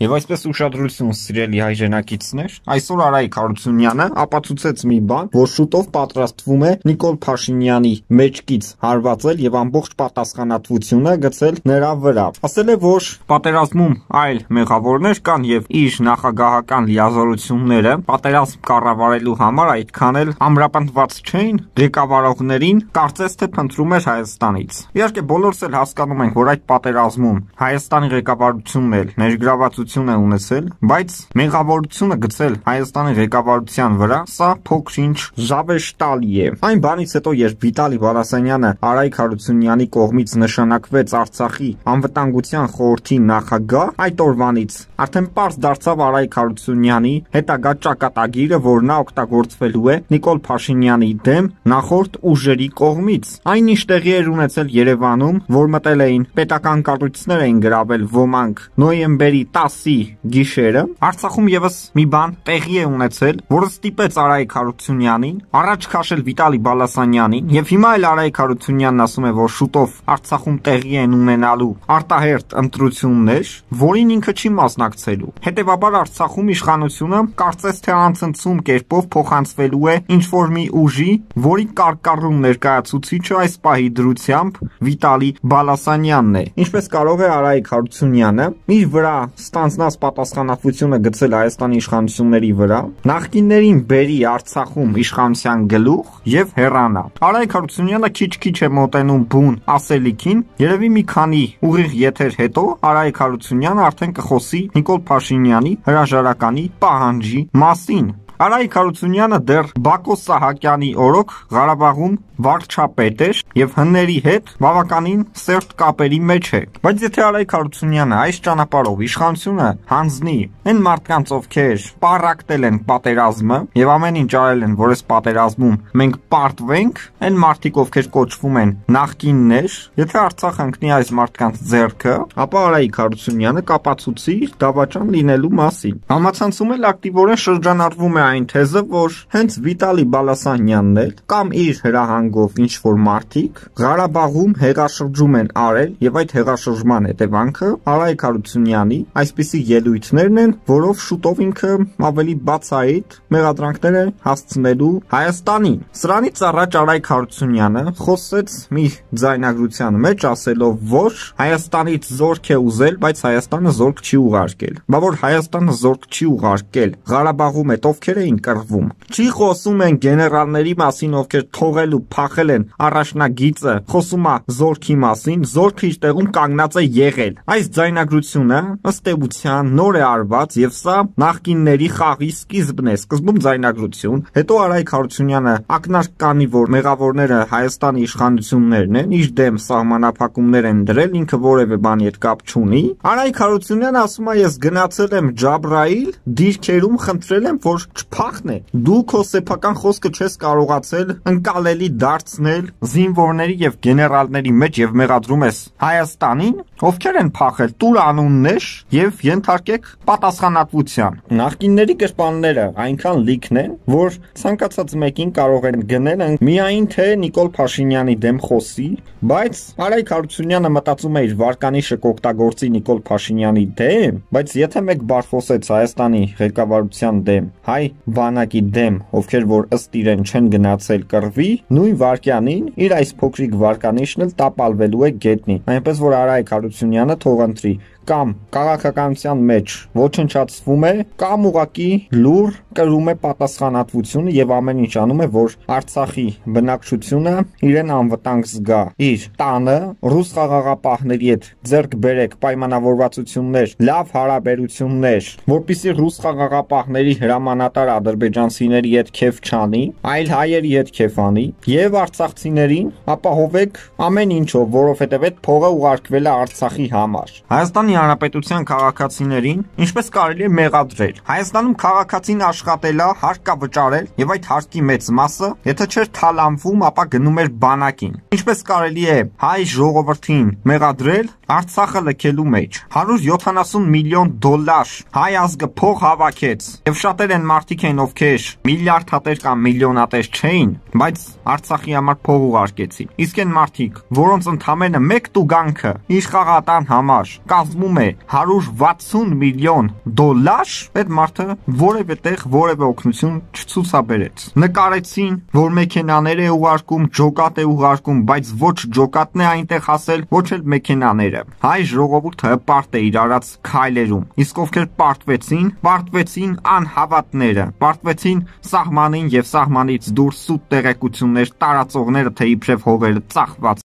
Եվ այսպես ուշադրություն սիրելի հայրենակիցներ, այսօր Արայիկ Հարությունյանը ապացուցեց մի բան, որ շուտով պատրաստվում է Նիկոլ Փաշինյանի մեջքից հարվածել եւ ամբողջ պատասխանատվությունը գցել նրա վրա։ Ասել է, որ պատերազմում այլ մեղավորներ կան եւ իր նախագահական լիազորությունները պատերազմ կառավարելու համար այդքան էլ ամրապնդված չէին ղեկավարողներին, կարծես թե փնտրում էր Հայաստանից։ Իհարկե բոլորս էլ հասկանում ենք, որ այդ պատերազմում Հայաստանի ղեկավարությունն էլ ներգրավված է ունեցել, բայց մեղավորությունը գցել Հայաստանի ղեկավարության վրա, սա փոքր-ինչ զավեշտալի է։ Այն բանից հետո, երբ Վիտալի Բալասանյանը Արայիկ Հարությունյանի կողմից նշանակվեց Արցախի անվտանգության խորհրդի նախագահ, այդ օրվանից արդեն պարզ դարձավ Արայիկ Հարությունյանի հետագա ճակատագիրը, որ նա օգտագործվելու է Նիկոլ Փաշինյանի դեմ նախորդ ուժերի կողմից։ Այն ինչ տեղի էր ունեցել Երևանում, որ մտել էին պետական կառույցներ էին գրավել ոմանք նոյեմբերի 10-ի գիշերը, Արցախում եւս մի բան տեղի է ունեցել, որը ստիպեց Արայիկ Հարությունյանին առաջ քաշել Վիտալի Բալասանյանին, եւ հիմա էլ Արայիկ Հարությունյանն ասում է, որ շուտով Արցախում տեղի են ունենալու արտահերթ ընտրություններ, որին ինքը չի մասնակցելու։ Հետևաբար Արցախում իշխանությունը կարծես թե անցնցում կերպով փոխանցվելու է ինչ-որ մի ուժի, որի կարկառուն ներկայացուցիչը այս պահի դրությամբ Վիտալի Բալասանյանն է։ Ինչպես կարող է Արայիկ Հարությունյանը իր վրա ստանձնած պատասխանատվությունը գցել Հայաստանի իշխանությունների վրա, նախկիններին բերի Արցախում իշխանության գլուխ եւ հեռանա։ Արայիկ Հարությունյանը քիչ-քիչ է մոտենում բուն ասելիքին, երևի մի քանի ուղիղ եթեր հետո Արայիկ Հարությունյանը արդեն կխոսի Նիկոլ Փաշինյանի հրաժարականի պահանջի մասին։ Արայիկ Հարությունյանը դեռ Բակո Սահակյանի օրոք Ղարաբաղում վարչապետ էր եւ հնների հետ բավականին սերտ կապերի մեջ է։ Բայց եթե Արայիկ Հարությունյանը այս ճանապարհով իշխանությունը հանձնի այն մարդկանց, ովքեր պարակտել են պատերազմը եւ ամեն ինչ արել են, որ այս պատերազմում մենք պարտվենք, այն մարդիկ, ովքեր կոչվում են նախկիններ, եթե Արցախը ընկնի այս մարդկանց ձեռքը, ապա Արայիկ Հարությունյանը կապացուցի դավաճան լինելու մասին։ Համացանցում էլ ակտիվորեն շրջանառվում է այն թեզը, որ հենց Վիտալի Բալասանյանն էլ կամ իր հրահանգով ինչ որ մարդիկ Ղարաբաղում հեղաշրջում են արել եւ այդ հեղաշրջման հետևանքը Արայիկ Հարությունյանի այսպիսի ելույթներն են, որով շուտով ինքը ավելի բացահայտ մեղադրանքներ է հասցնելու Հայաստանին։ Սրանից առաջ Արայիկ Հարությունյանը խոսեց մի ձայնագրության մեջ ասելով, որ Հայաստանից զորք է ուզել, բայց Հայաստանը զորք չի ուղարկել։ Բա որ Հայաստանը զորք չի ուղարկել, Ղարաբաղում այդ ովքեր էին կռվում։ Չի խոսում են գեներալների մասին, ովքեր թողել ու փախել են առաջնագիծը, խոսում է զորքի մասին, զորքը իր տեղում կանգնած է եղել։ Այս ձայնագրությունը ըստ էության նոր է արված եւ սա նախկինների խաղի սկիզբն է, սկզբում ձայնագրություն, հետո Արայիկ Հարությունյանը ակնարկ կանի, որ մեղավորները Հայաստանի իշխանություններն են, իր դեմ սահմանափակումներ են դրել, ինքը որևէ բանի հետ կապ չունի։ Արայիկ Հարությունյանը ասում է, ես գնացել եմ Ջաբրայիլ, դիրքերում խնդրել եմ, որ չփախնե։ Դու քո սեփական խոսքը չես կարողացել ընկալելի դարձնել զինվորների եւ գեներալների մեջ եւ մեղադրում ես Հայաստանին, ովքեր են փախել, տուր անուններ եւ ենթարկեք պատասխանատվության։ Նախկինների գրպանները այնքան լիքն են, որ ցանկացած մեկին կարող են գնել միայն թե Նիկոլ Փաշինյանի դեմ խոսի, բայց Արայիկ Հարությունյանը մտածում է իր վարկանիշը կօգտագործի Նիկոլ Փաշինյանի դեմ, բայց եթե մեկ բար խոսեց Հայաստանի ղեկավարության դեմ, հայ բանակի դեմ, ովքեր որ ըստ իրեն չեն գնացել կռվի, նույն վարքյանին իր այս փոքրիկ վարկանիշն էլ տապալվելու է գետնին։ Այնպես որ Արայիկ Հարությունյանը թող ընտրի կամ քաղաքականության մեջ ոչնչացվում է, կամ ուղակի լուր կրում է պատասխանատվությունը եւ ամեն ինչ անում է, որ Արցախի բնակչությունը իրեն անվտանգ զգա։ Իր տանը ռուս խաղաղապահների հետ ձեռք բերեք պայմանավորվածություններ, լավ հարաբերություններ, որպեսզի ռուս խաղաղապահների հրամանատար ադրբեջանցիների հետ քեֆ չանի, այլ հայերի հետ քեֆ անի եւ արցախցիներին ապահովեք ամեն ինչով, որովհետեւ այդ փողը ուղարկվել է Արցախի համար։ Հայաստանի Հանրապետության քաղաքացիներին ինչպես կարելի է մեղադրել։ Հայաստանում քաղաքացին աշխատելա, հարկ կա վճարել եւ այդ հարկի մեծ մասը, եթե չէր թալանվում, ապա գնում էր բանակին։ Ինչպես կարելի է հայ ժողովրդին մեղադրել Արցախը լքելու մեջ։ 170 միլիոն դոլար հայ ազգը փող հավաքեց եւ շատեր են մարդիկ են, ովքեր միլիարդատեր կամ միլիոնատեր չէին, բայց Արցախի համար փող ուղարկեցին։ Իսկ այն մարդիկ, որոնց ընդամենը մեկ տուգանքը իր խաղատան համար կազմում կազմում է 160 միլիոն դոլար, այդ մարդը որևէ տեղ որևէ օգնություն չցուցաբերեց։ Նկարեցին, որ մեքենաներ է ուղարկում, ջոկատ է ուղարկում, բայց ոչ ջոկատն է այնտեղ հասել, ոչ էլ մեքենաները։ Հայ ժողովուրդը հպարտ է իր արած քայլերում, իսկ ովքեր պարտվեցին անհավատները, պարտվեցին սահմանին եւ սահմանից դուրս սուտ տեղեկություններ տարածողները, թե իբրև հողերը ծախված։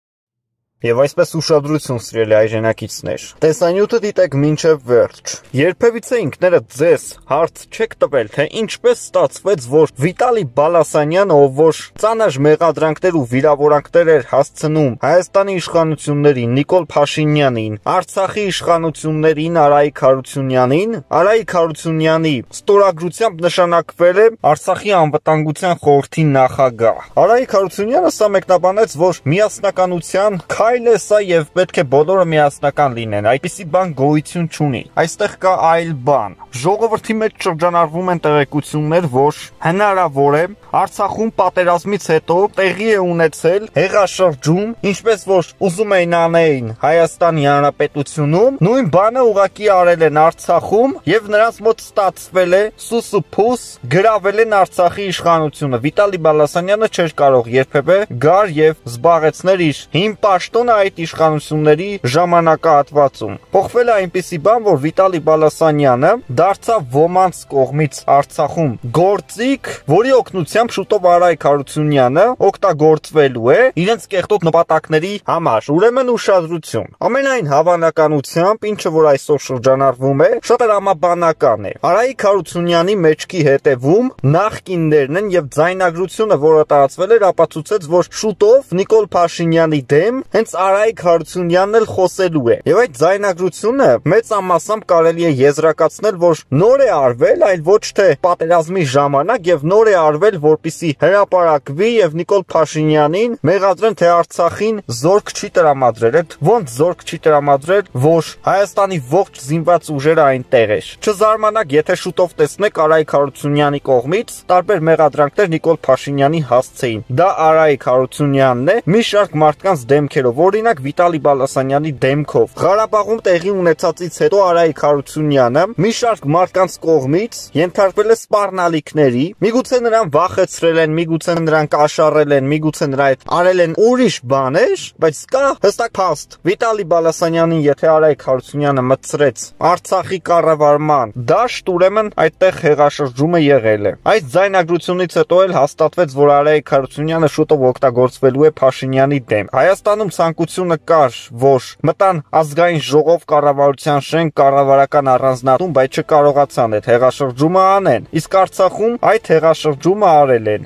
Եվ այսպես ուշադրություն, սիրելի հայրենակիցներ, տեսանյութը դիտեք մինչև վերջ։ Երբևիցե ինքներդ ձեզ հարց չեք տվել, թե ինչպես ստացվեց, որ Վիտալի Բալասանյանը, ով որ ծանր մեղադրանքներ ու վիրավորանքներ էր հասցնում Հայաստանի իշխանություններին, Նիկոլ Փաշինյանին, Արցախի իշխանություններին, Արայիկ Հարությունյանին, Արայիկ Հարությունյանի ստորագրությամբ նշանակվել է Արցախի անվտանգության խորհրդի նախագահ։ Արայիկ Հարությունյանը սա մեկնաբանեց, որ միասնականության այլ է սա եւ պետք է բոլորը միասնական լինեն, այդպիսի բան գոյություն չունի։ Այստեղ կա այլ բան։ Ժողովրդի մեջ շրջանառվում են տեղեկություններ, որ հնարավոր է Արցախում պատերազմից հետո տեղի է ունեցել հեղաշրջում, ինչպես որ ուզում էին անեին Հայաստանի Հանրապետությունում, նույն բանը ուղղակի արել են Արցախում եւ նրանց մոտ ստացվել է սուսուփուս, գրավել են Արցախի իշխանությունը։ Վիտալի Բալասանյանը չէր կարող երբևէ գար եւ զբաղեցնել իր հին պաշտոնը այդ իշխանությունների ժամանակահատվածում։ Փոխվել է այնպիսի բան, որ Վիտալի Բալասանյանը դարձավ ոմանց կողմից Արցախում գործիք, որի օգնությամբ շուտով Արայիկ Հարությունյանը օգտագործվելու է իրենց կեղտոտ նպատակների համար։ Ուրեմն ուշադրություն։ Ամենայն հավանականությամբ, ինչը որ այսօր շրջանառվում է, շատ տրամաբանական է։ Արայիկ Հարությունյանի մեջքի հետևում նախկիններն են եւ ձայնագրությունը, որը տարածվել էր, ապացուցեց, որ շուտով Նիկոլ Փաշինյանի դեմ հենց Արայիկ Հարությունյանն էլ խոսելու է։ Եվ այդ ձայնագրությունը մեծ ամասամբ կարելի է եզրակացնել, որ նոր է արվել, այլ ոչ թե պատերազմի ժամանակ եւ նոր է արվել, որպիսի հրապարակվի եւ Նիկոլ Փաշինյանին մեղադրեն, թե Արցախին զորք չի տրամադրել։ Այդ ոնց զորք չի տրամադրել, որ Հայաստանի ողջ զինված ուժերը այնտեղ էր։ Չզարմանաք, եթե շուտով տեսնեք Արայիկ Հարությունյանի կողմից տարբեր մեղադրանքներ Նիկոլ Փաշինյանի հասցեին։ Դա Արայիկ Հարությունյանն է մի շարք մարդկանց դեմքերով, օրինակ Վիտալի Բալասանյանի դեմքով։ Ղարաբաղում տեղի ունեցածից հետո Արայիկ Հարությունյանը մի շարք մարդկանց կողմից ենթարկվել է սպառնալիքների, միգուցե նրան վախեցրել են, միգուցե նրան կաշառել են, միգուցե նրա հետ արել են ուրիշ բաներ, բայց կա հստակ փաստ։ Վիտալի Բալասանյանին եթե Արայիկ Հարությունյանը մտցրեց Արցախի կառավարման դաշտ, ուրեմն այդտեղ հեղաշրջումը եղել է։ Այս ձայնագրությունից հետո էլ հաստատվեց, որ Արայիկ Հարությունյանը շուտով օգտագործվելու է Փաշինյանի դեմ։ Հայաստանում ցանկությունը կար, որ մտան ազգային ժողով, կառավարության շենք, կառավարական առանձնատուն, բայց չկարողացան այդ հեղաշրջումը անեն։ Իսկ Արցախում այդ հեղաշրջումը արել են։